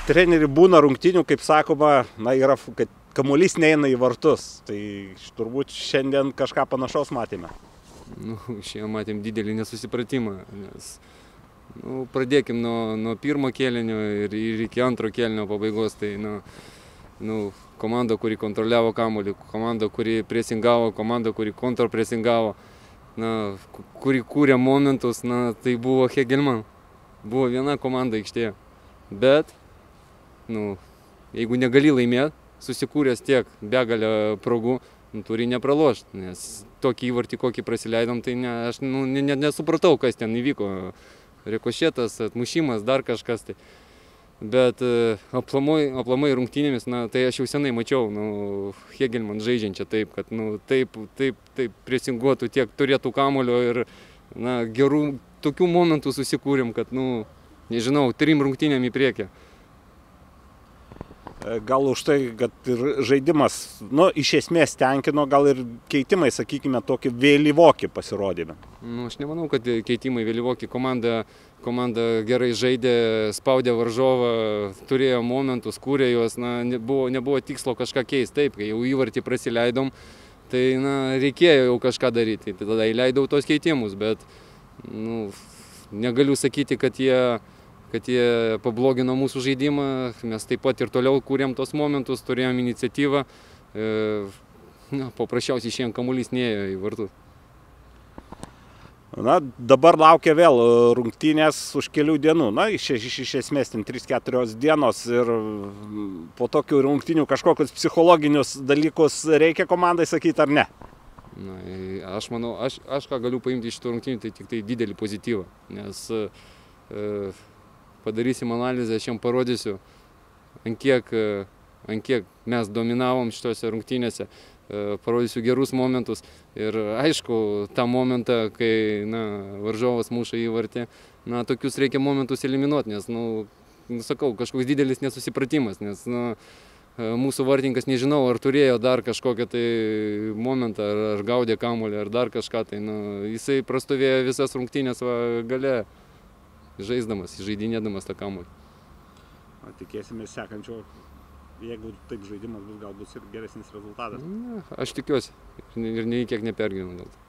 Treneri būna rungtynių, kaip sakoma, yra, kad kamuolys neina į vartus. Tai turbūt šiandien kažką panašaus matėme. Šiandien matėm didelį nesusipratimą, nes pradėkim nuo pirmo kėlinio ir iki antro kėlinio pabaigos. Tai komanda, kuri kontroliavo kamuolį, komanda, kuri presingavo, komanda, kuri kontrpresingavo, kuri kūrė momentus, tai buvo Hegelman. Buvo viena komanda aikštėje. Bet jeigu negali laimėti, susikūręs tiek begalę progų, turi nepralošti, nes tokį įvartį, kokį prasileidom, tai aš nesupratau, kas ten įvyko. Rikošėtas, atmušimas, dar kažkas. Tai. Bet aplamai rungtynėmis, tai aš jau senai mačiau Hegelman žaidžiančią taip, kad taip presinguotų, tiek turėtų kamuolio ir gerų tokių momentų susikūrėm, kad, nežinau, 3 rungtynėm į priekį. Gal už tai, kad ir žaidimas, iš esmės tenkino, gal ir keitimai, sakykime, tokį vėlyvokį pasirodymą. Aš nemanau, kad keitimai vėlyvokį. Komanda gerai žaidė, spaudė varžovą, turėjo momentus, kūrė juos, nebuvo tikslo kažką keisti. Taip, kai jau įvartį prasileidom, tai reikėjo jau kažką daryti. Tai tada įleidau tos keitimus, bet negaliu sakyti, kad jie pablogino mūsų žaidimą, mes taip pat ir toliau kūrėm tos momentus, turėjom iniciatyvą, paprasčiausiai šiandien kamuolys neėjo į vartus. Dabar laukia vėl rungtynės už kelių dienų, iš esmės 3-4 dienos ir po tokių rungtynių kažkokius psichologinius dalykus reikia komandai sakyti ar ne? Aš manau, aš ką galiu paimti iš tų rungtynių, tai tik tai didelį pozityvą, nes padarysim analizę, aš jam parodysiu, ant kiek mes dominavom šitose rungtynėse, parodysiu gerus momentus ir aišku, tą momentą, kai varžovas muša įvartį, tokius reikia momentus eliminuoti, nes, sakau, kažkoks didelis nesusipratimas, nes mūsų vartininkas nežinau, ar turėjo dar kažkokią tai momentą, ar gaudė kamuolį, ar dar kažką, tai jisai prastovėjo visas rungtynės gale. Žaisdamas, žaidinėdamas tą kamuolį. Tikėsimės sekančio, jeigu taip žaidimas bus, galbūt ir geresnis rezultatas. Aš tikiuosi ir nei kiek nepergyvenu dėl to.